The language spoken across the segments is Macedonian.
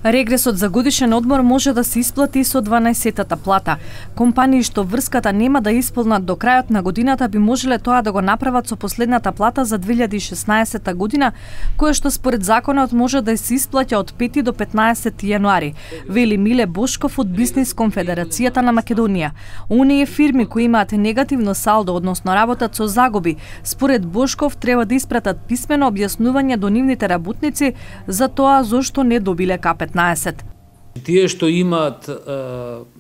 Регресот за годишен одмор може да се исплати со 12-тата плата. Компании што врската нема да исполнат до крајот на годината би можеле тоа да го направат со последната плата за 2016 година, која што според законот може да се исплаќа од 5 до 15 јануари, вели Миле Бошков од Бизнис конфедерацијата на Македонија. Оние фирми кои имаат негативно салдо, односно работат со загуби, според Бошков треба да испратат писмено објаснување до нивните работници за тоа зошто не добиле К15. Тие што имаат,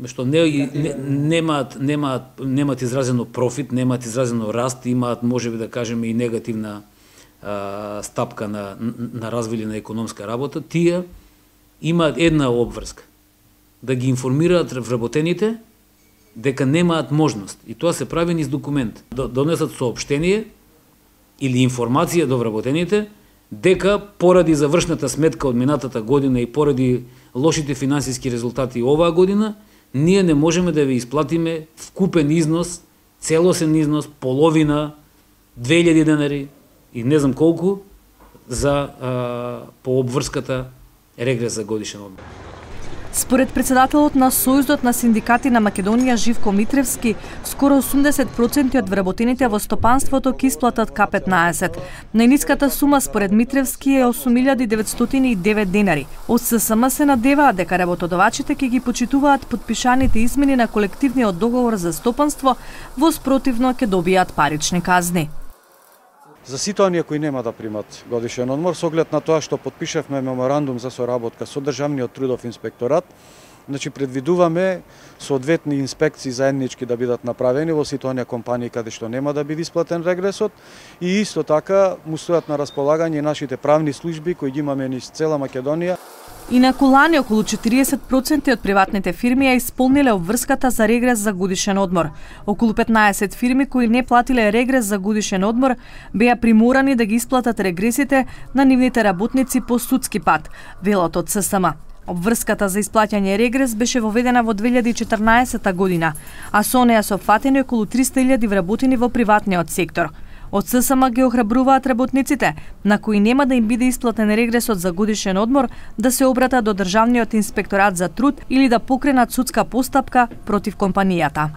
што немаат изразено профит, немаат изразено раст, имаат можеби да кажеме и негативна стапка на развиле на економска работа, тие имаат една обврска да ги информираат вработените дека немаат можност. И тоа се прави низ документ. Донесат соопштение или информација до вработените дека поради завршната сметка од минатата година и поради лошите финансиски резултати оваа година, ние не можеме да ви исплатиме вкупен износ, целосен износ, половина, 2000 денари и не знам колку за по обврската регрес за годишен одмор. Според председателот на Сојузот на синдикати на Македонија Живко Митревски, скоро 80% од вработените во стопанството ќе исплатат К15. Најниската сума според Митревски е 8.909 денари. Од ССМ се надеваат дека работодавачите ќе ги почитуваат подпишаните измени на колективниот договор за стопанство, во спротивно ќе добијат парични казни. За сите оние кои нема да примат годишен одмор, со оглед на тоа што потпишавме меморандум за соработка со Државниот трудов инспекторат, значи предвидуваме соодветни инспекции заеднички да бидат направени во сите оние компании каде што нема да биде исплатен регресот и исто така му стојат на располагање нашите правни служби кои ги имаме низ цела Македонија. Инаку лани околу 40% од приватните фирми ја исполниле обврската за регрес за годишен одмор. Околу 15 фирми кои не платиле регрес за годишен одмор беа приморани да ги исплатат регресите на нивните работници по судски пат, велат од ССМ. Обврската за исплаќање регрес беше воведена во 2014 година, а со неа се опфатени околу 300.000 вработени во приватниот сектор. Од ССМ ги охрабруваат работниците, на кои нема да им биде исплатен регресот за годишен одмор, да се обратат до Државниот инспекторат за труд или да покренат судска постапка против компанијата.